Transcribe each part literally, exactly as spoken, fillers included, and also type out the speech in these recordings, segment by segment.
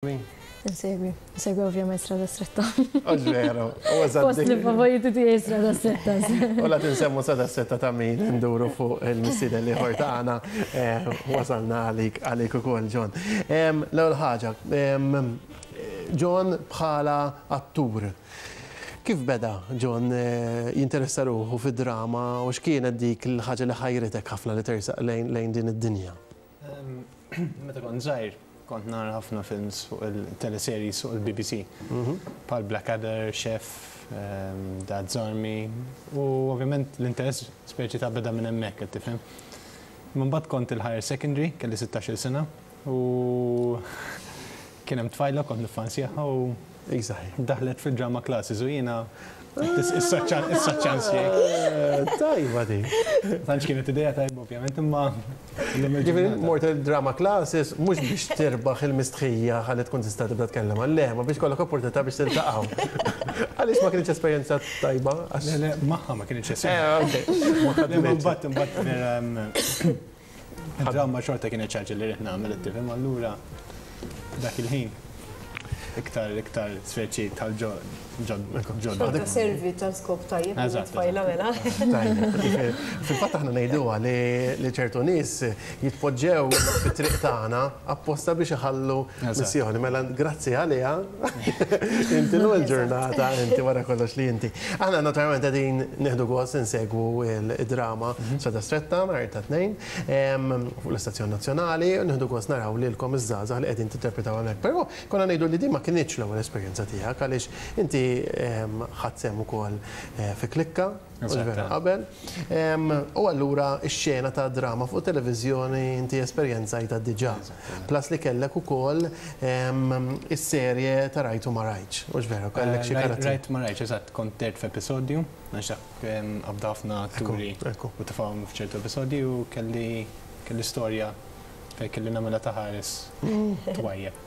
Insegwi, insegwi ovvjament Strada Stretta. Hux veru, u Post li favoriti tiegħi Strada Stretta. U la tinsemmu Strada Stretta ta' min nduru fuq il-mistieden l-ieħor tagħna, eh, wasalna għalik għalik ukoll, John. L-ewwel ħaġa, John bħala attur. Kif beda John eh, jinteressa ruħu fid-drama u x'kienet dik il-ħaġa li ħajritek ħafna li tersaq lejn din id-dinja? Meta kont żgħir, kont nara ħafna films fuq il-teleseries fuq il-B B C. Bħal Blackadder, Chef, um, Dad's Army, u ovvjament l-interess speċi ta' beda minn hemmhekk, qed tifhem. Mbagħad kont il-higher secondary, kelli sittax-il sena, u kien hemm tfajla kont niffansjaha u daħlet fil-drama classes u jiena issa ċans jgħid. Tajba di. Tantx kienet idea tajba ovvjament, imma Ġifieri mort il-drama classes mhux biex tirbaħ il-mistħija ħalli tkun tista' tibda tkellem għal ma biex kollok opportunità biex tiltaqgħu. Għaliex ma kienx esperjenza tajba? Le, le, magħha ma kienx esperjenza. Mbagħad imbagħad vera drama xorta kienet ħaġa li rrid nagħmel, tifhem, allura dak il-ħin iktar iktar speċi tal-ġod. Xorta servi ta' skop tajjeb, tfajla mela. Fil-fatt aħna ngħiduha li ċertu nies jitpoġġew fit-triq tagħna apposta biex iħallu missjoni. Mela grazzi għaliha inti l ġurnata inti wara kollox li inti. Aħna naturalment qegħdin nieħdu gost insegwu il-drama Strada Stretta nhar ta' Tnejn fuq l-Istazzjon Nazzjonali u nieħdu gost naraw lilkom iż-żgħażagħ li qegħdin tinterpretaw hemmhekk. Però konna ngħidu li din ma kinitx l-ewwel esperjenza tiegħek, għaliex inti ħadt sehem ukoll eh, fi Klikka vera qabel. U allura x-xena ta' drama fuq televiżjoni inti esperjenzajta diġà. Plus li kellek ukoll is-serje ta' Rajt u ma Rajtx. Hux vera, kellek xi karatteri. Rajt ma Rajtx, eżatt, kont dehrt f'episodju, għax dak qabda ħafna atturi u tefgħuhom f'ċertu episodji u kelli kelli storja fejn kelli nagħmilha ta' ħares twajjeb.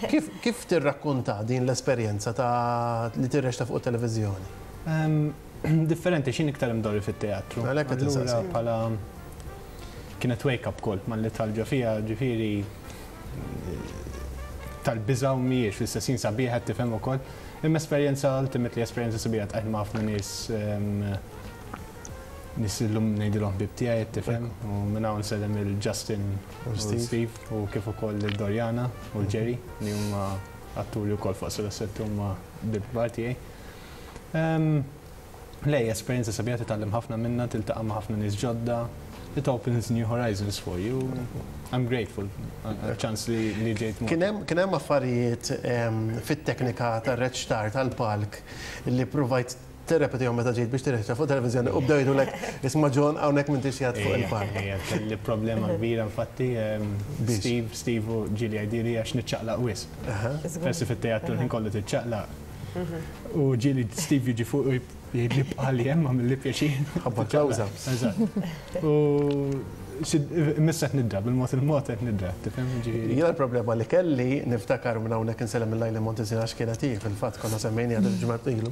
Kif, kif tirrakkonta din l-esperjenza ta' li tirreċta fuq televiżjoni? Differenti, x'jien iktar imdorri fit-teatru. Għalhekk qed Allura insaqsi. bħala kienet wake up call malli dħalt ġo fiha, ġifieri tal-biża' u mhijiex fl-istess ħin sabiħa, tifhem ukoll. Imma esperjenza, ultimately esperjenza sabiħa, ltqajt ma' ħafna nies em, nies illum ngħidilhom ħbieb tiegħi, tifhem, u minn hawn nsellem lil Justin u Steve. Steve u kif ukoll lil Doriana u Jerry li huma atturi wkoll fuq Strada huma ħbieb kbar tiegħi. Em, Lej, esperjenza sabiħa, titgħallem ħafna minna, tiltaqa' ma' ħafna nies ġodda. It opens new horizons for you. I'm grateful għal-ċans li, li ġejt Kien hemm kien hemm affarijiet em, fit-teknika tar-reċtar tal-palk li provajt tirrepetihom meta ġejt biex tirreċta fuq televiżjoni u bdew jgħidulek, "Isma' John, hawnhekk m'intix qiegħed fuq il-palk"? Ejja, kelli problema kbira infatti. em, Biex? Steve, Steve u ġieli jgħidili għax niċċaqlaq wisq. Forsi fit-teatru l-ħin kollu tiċċaqlaq. U ġieli Steve jiġi fuq u jgħidli bqali hemm, għamilli pjaċir. Ħabba close-ups. Eżatt. U missa qed nidra, bil-mod il-mod qed nidra, tifhem, ġifieri. Jiena l-problema li kelli, niftakar, minn hawnhekk insellem lil Lajli Montezin għax kienet hi, fil-fatt konna semmejni għad il-ġimgħat ilu.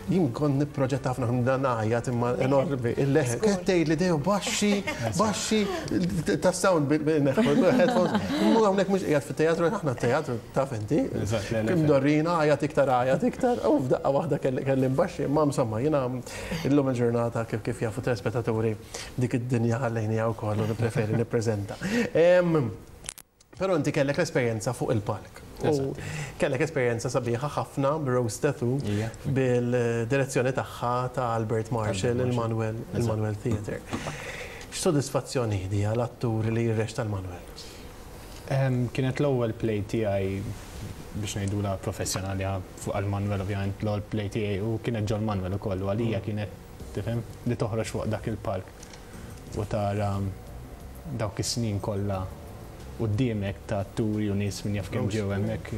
Jien kont nipproġetta ħafna dan ngħajjat imma enormi il-leħen. Kienet tgħidli dejjem baxxi, baxxi ta' sound bil-headphones. Mu hawnhekk mhux qiegħed fit-teatru, aħna teatru taf inti. Eżatt, le, le, Kim dorrina għajat iktar, għajat iktar, u f'daqqa waħda kelli kelli mbaxxi, ma insomma jiena illum il-ġurnata, kif kif jafu telespettaturi, dik id-dinja ħallejniha wkoll u nippreferi nippreżenta. Em, Però inti kellek l-esperjenza fuq il-palk. U kellek esperjenza sabiħa ħafna b'Rose Tattoo Ija. bil-direzzjoni tagħha ta' Albert Marshall, il-Manuel, il-Manuel Theatre. X'sodisfazzjoni di għal attur li jirreċta l-Manuel? Em, Kienet l-ewwel play tiegħi biex ngħidula professjonali fuq għal-Manuel, ovvjament l-ewwel play tiegħi u kienet ġol Manuel ukoll u għalija kienet, tifhem, li toħroġ fuq dak il-palk u tara dawk is-snin kollha quddiemek ta' atturi u nies minn jaf kemm ġew hemmhekk,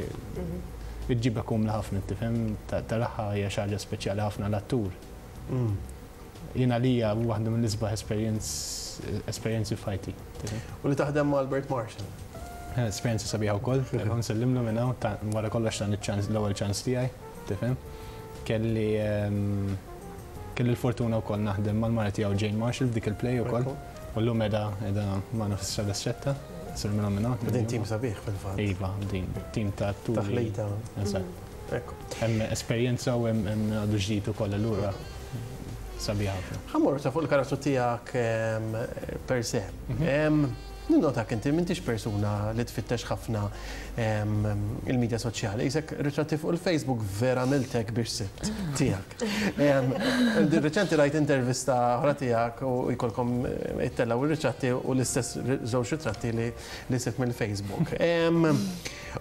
iġġibek umla ħafna, tifhem, taraha hija xi ħaġa speċjali ħafna l-attur. Jien għalija waħda mill-isbaħ esperjenzi f'ħajti, tifhem. U li taħdem ma' Albert Marshall. Eh, Esperjenza sabiħa wkoll, nsellimlu minn hawn, ta' wara kollox dan iċ-ċans, l-ewwel ċans tiegħi, tifhem. Kelli ehm, kelli l-fortuna wkoll naħdem mal-mara tiegħu Jane Marshall f'dik il-play ukoll. U llum qiegħda qiegħda magħna fi Strada Stretta. Sir minn minn hawn. Din tim sabiħ fil-fatt. Iva, din tim ta' atturi. Taħlita. Eżatt. Ekku. Hemm esperjenza u hemm hemm għadu ġdid ukoll allura sabiħ ħafna. Ħa mmorru ta' fuq il-karattru tiegħek em, per se. Em, Ninnotak inti m'intix persuna li tfittex ħafna em, il-medja soċjali. Isek ritratti fuq il-Facebook vera miltek biex sibt tiegħek. Em, Di reċenti rajt intervista oħra tiegħek u jkollkom ittellaw ir-ritratti u l-istess żewġ ritratti li li sibt mill-Facebook. Em,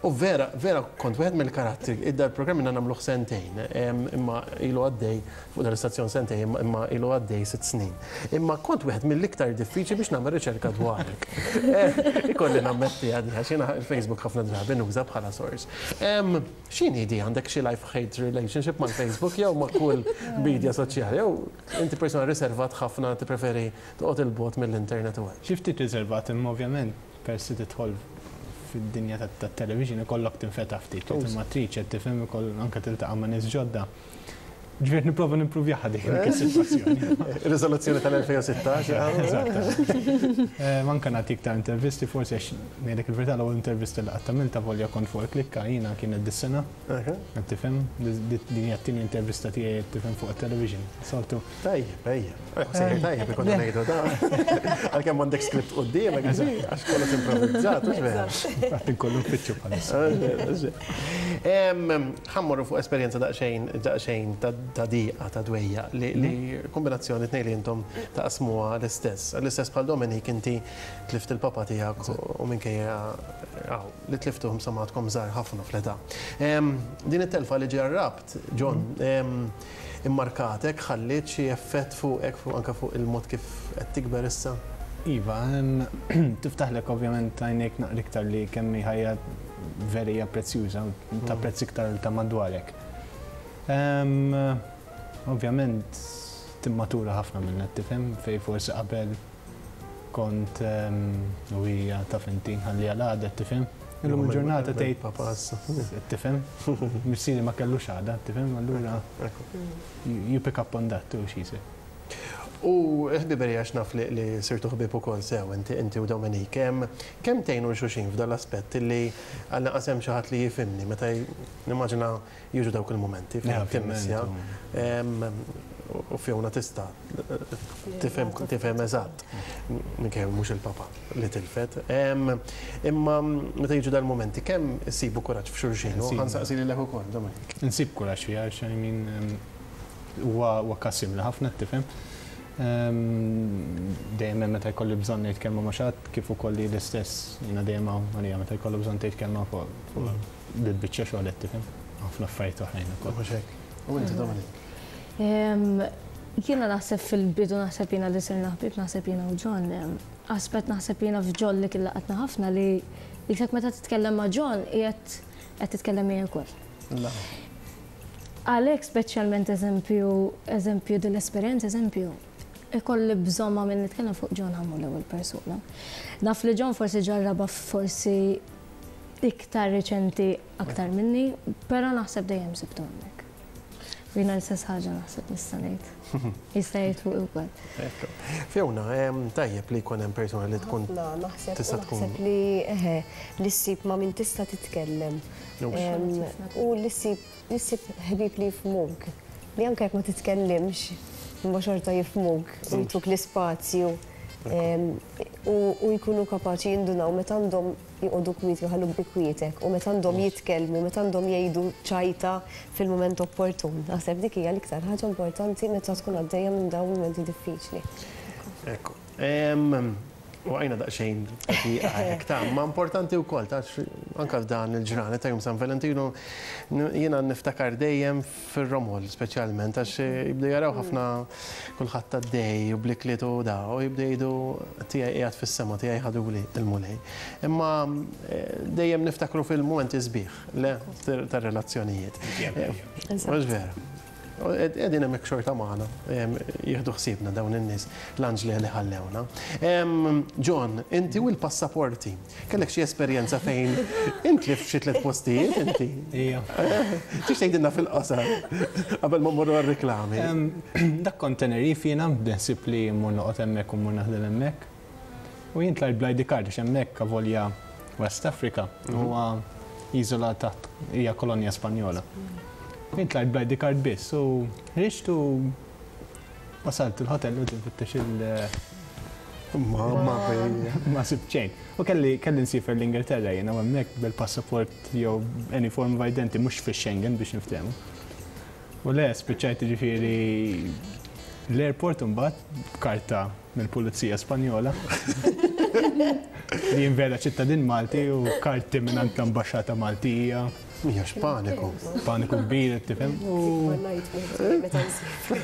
U vera, vera kont wieħed mill-karattri, idda l-programm minna nagħmluh sentejn, em, imma ilu għaddej fuq dal-istazzjon sentejn, imma- imma ilu għaddej sitt snin. Imma kont wieħed mill-iktar diffiċli biex nagħmel riċerka dwarek. Eh, Ikolli nammetti għadi, għax jiena il-Facebook ħafna drabi nuża bħala source. Em, X'inhi di għandek xi life hate relationship mal-Facebook jew ma' kull media soċjali jew inti persona riservat ħafna tippreferi toqgħod il-bogħod mill-internet u hekk. Xi ftit riservat imma ovvjament persi tidħol fid-dinja tat-television ikollok tinfetaħ ftit, Tus. imma triċ qed tifhem ikoll anke tiltaqa' ma' nies ġodda. Ġifieri nipprova nimpruvjaha dik is-sitwazzjoni. Riżoluzzjoni tal-elfejn u sittax. Eżatt. Eh, Manka nagħti iktar intervisti, forsi għax ngħidlek il-verità, l-ewwel intervista li qatt għamilta volja kont fuq il-klikka jiena kienet dis-sena, qed tifhem, din hija t-tieni intervista tiegħi, qed tifhem, fuq it-television. Soltu Tajjeb, ejja. Sejjer tajjeb ikonna ngħidu da. Għalkemm għandek script quddiemek, għax kollox improvvizzat, mhux vera. Qatt inkollu nfittxu bħalissa. Ħa mmorru fuq esperjenza daqsxejn daqsxejn ta' ta' diqa, ta' dwejja, li li kombinazzjoni tnejn li intom taqsmuha l-istess. L-istess bħal Dominik, inti tlift il-papa tiegħek u minkejja għaw, li tliftuhom samatkom żgħar ħafna fl-età. Em, Din it-telfa li ġarrabt, John, em, immarkatek, ħalliet xi effett fuqek, fuq anke fuq il-mod kif qed tikber issa? Iva, em, tiftaħlek ovvjament għajnejk naqra iktar li kemm hi ħajja veri hija prezzjuża, tapprezz iktar ta' madwarek. Em, Ovvjament timmatura ħafna minn tifhem fej forsi qabel kont em, u hija taf inti ħalli għal għada, tifhem. Illum il-ġurnata tgħid Papa issa. Tifhem, missieri ma kellux għada, tifhem, allura you you pick up on that too, she said. U ħbiberija, għax naf li, li sirtu ħbib ukoll sew inti inti u Dominik, kemm kemm tgħinu xulxin f'dan l-aspett li għal naqasem xi ħadd li jifhimni meta j- nimmaġina jiġu dawk il-momenti fejn timmissja. Em, U Fiona tista' tifhem tifhem eżatt minkejja mhux il-papa li tilfet. Em, Imma meta jiġu dal-momenti kemm issibu kuraġġ f'xulxin? U Insibu. ħa nsaqsi lilek ukoll, Dominik. Nsib kuraġġ fiha, għax I mean, em, huwa huwa każ simili ħafna, tifhem. Em, Dejjem hemm meta jkolli bżonn ngħid kelma ma' xi ħadd, kif ukoll li l-istess jiena dejjem hawn għalija meta jkollu bżonn tgħid kelma fuq fuq bil-biċċa xogħol, qed tifhem. Ħafna affarijiet oħrajn ukoll. Mhux hekk. U inti, Dominik? Em, Jiena naħseb fil-bidu, naħseb jiena li sirna ħbib, naħseb jiena u John. em, Aspett naħseb jiena f'John li kien laqatna ħafna li jisek meta titkellem ma' John qiegħed qed titkellem miegħi wkoll. La. Għalhekk speċjalment eżempju, eżempju din l-esperjenza, eżempju, ikolli bżonn ma' min nitkellem fuq John, ħa mmur l-ewwel persuna. Naf li John forsi ġarraba forsi iktar reċenti aktar minni, però naħseb dejjem sibtu hemmhekk. U jiena l-istess ħaġa naħseb nista' ngħid. Jista' jgħid fuq ukoll. Ekku. Fiona, em, tajjeb li jkun hemm persuna li tkun Ħafna, naħseb tista' u tkun- naħseb li eħe, li ssib ma' min tista' titkellem. Mhux. Em, U li ssib li ssib ħbib li jifhmuk. Li anke jekk ma titkellimx, imma xorta jifhmuk, u jtuk l-ispazju. Em, U u jkunu kapaċi jindunaw meta għandhom joqogħdu kwieti, jħalluk bi kwietek, u meta għandhom jitkellmu, meta għandhom jgħidu ċajta fil-mument opportun. Naħseb dik hija l-iktar ħaġa importanti meta tkun għaddejja minn dawn mumenti diffiċli. Ekku. Em, U għajna daqxejn hekk ta' ma importanti wkoll ta' anka f'dan il-ġranet ta' jum San Valentino n- jiena niftakar dejjem fir-romol speċjalment, għax jibdew jaraw ħafna kulħadd għaddej u blikliet u da u jibdew jgħidu tiegħi qiegħed fis-sema, tiegħi ħaduli il-Mulej. Imma eh, dejjem niftakru fil-mumenti sbieħ le tar-relazzjonijiet. Mhux vera. Qegħdin hemmhekk xorta magħna, jieħdu ħsiebna dawn in-nies, l-anġli li ħallewna. Em, John, inti u l-passaporti, kellek xi esperjenza fejn inti f'xi tliet postijiet inti? Ija. Tix tgħidilna fil-qosor qabel ma mmorru għar-reklami? Em, Dak kont Tenerife jiena, b'densib li mmur noqgħod hemmhekk u mmur naħdem hemmhekk. U jien tlajt bl-I D card għax hemmhekk, avolja West Africa, huwa iżola taħt, hija kolonja Spanjola. Jien tlajt bl-I D card biss u ħriġt u wasalt il-hotel u nfittex il- Mamma mia. Ma sibt xejn. U kelli kelli nsiefer l-Ingilterra jiena u hemmhekk bil-passaport jew any form of identity, mhux fi Schengen biex niftehmu. U le, spiċċajt ġifieri l-airport imbagħad b'karta mill-Pulizija Spanjola li jien vera ċittadin Malti u karti minn l-Ambaxxata Maltija. Mija x'paniku. Paniku kbir, tifhem? U Meta nsiefer.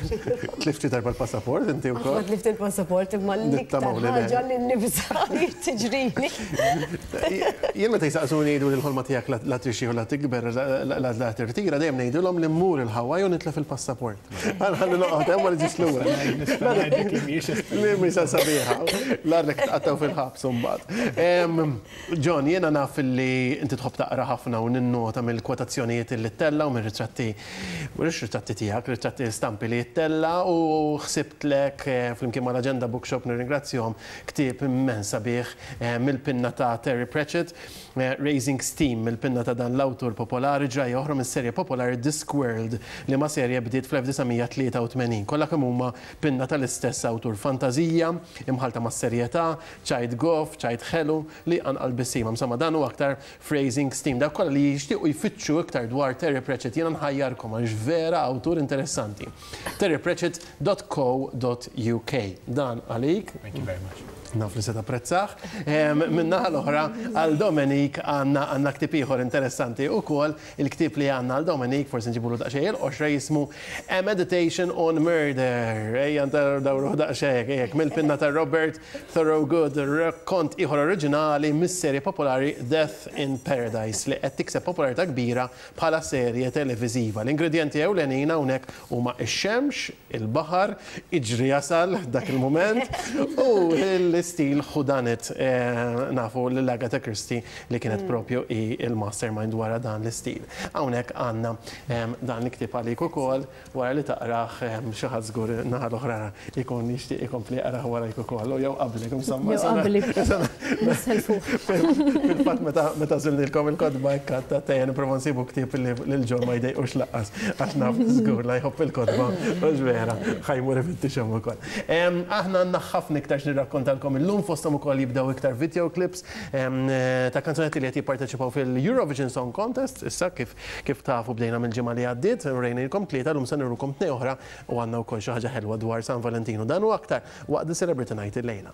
Tlifti darba l-passaport inti Ma wkoll? tlift il-passaport, imma l-iktar Nittamaw li le. ħaġa li nibża li tiġrini. Jien meta jisaqsuni, jgħidu li l-ħolma tiegħek la trixxi u la tikber, la- la la tirtira, dejjem ngħidulhom li mmur il-Hawaii u nitlef il-passaport. Ħalli noqgħod hemm, ma niġix lura. Nista' ngħidlek li mhijiex Li misa sabiħa. L-għarlek tqattaw fil-ħabs mbagħad. Em, John, jiena naf li inti tħobb taqra ħafna u ninnota mill-kwotazzjonijiet li ttella' u mill-ritratti, mhux ritratti tiegħek, ritratti stampi li ttella', u ħsibtlek eh, flimkien mal-Agenda Bookshop, nirringrazzjahom, ktieb immens sabiħ eh, mill-pinna ta' Terry Pratchett, eh, Raising Steam, mill-pinna ta' dan l-awtur popolari, ġrajja oħra mis-serje popolari Discworld, li ma serje bdiet fl-elf disa' mija tlieta u tmenin. Kollha kemm huma pinna tal-istess awtur, fantazija imħalta ma' serjetà, ċajt goff, ċajt ħelu li għanqal bissima. Insomma, dan u aktar Raising Steam. Dak kollha li jixtiequ jfittxu iktar dwar Terry Pratchett, jiena nħajjarkom għax vera awtur interessanti. terrypratchett dot co dot U K. Dan għalik. Thank you very much. Naf li se tapprezzah. Min-naħa l-oħra, għal Dominic għandna għandna ktieb ieħor interessanti ukoll. Il-ktieb li għandna għal Dominic, forsi nġibulu daqsxejn il-qoxra, jismu A Meditation on Murder. Ejja dawru daqsxejn, ejjek, mill-pinna ta' Robert Thorogood, rakkont ieħor oriġinali mis-serje popolari Death in Paradise li qed tikseb popolarità kbira bħala serje televiżiva. L-ingredienti ewlenin hawnhekk huma ix-xemx, il-baħar, iġri jasal dak il-moment u l-istil whodunit, eh, nafu l-Agatha Christie li kienet propju i il-mastermind wara dan l-istil. Hawnhekk għandna em, dan l-ktieb għalik ukoll, wara li taqrah em, xi ħadd żgur naħa l-oħra ikun jixtieq ikompli jaqrah warajk ukoll u jew qablek, insomma. Jew qabli. Nisselfu. Fil-fatt meta meta żilnilkom il-kotba ikkatta tejja nipprova nsibu ktieb li lil John ma jdejqux lanqas, għax naf żgur la jħobb il-kotba u vera ħa jmur ifittixhom ukoll. Em, Aħna għandna ħafna iktar x'nirrakkontalkom illum, fosthom ukoll jibdew iktar video clips em, ta' kanzunetti li qed jipparteċipaw fil-Eurovision Song Contest. Issa kif kif tafu bdejna mill-ġimgħa li għaddiet, rejnilkom tlieta, llum se nurukom tnejn oħra u għandna wkoll xi ħaġa ħelwa dwar San Valentino. Dan u aktar waqt The Celebrity Night illejla.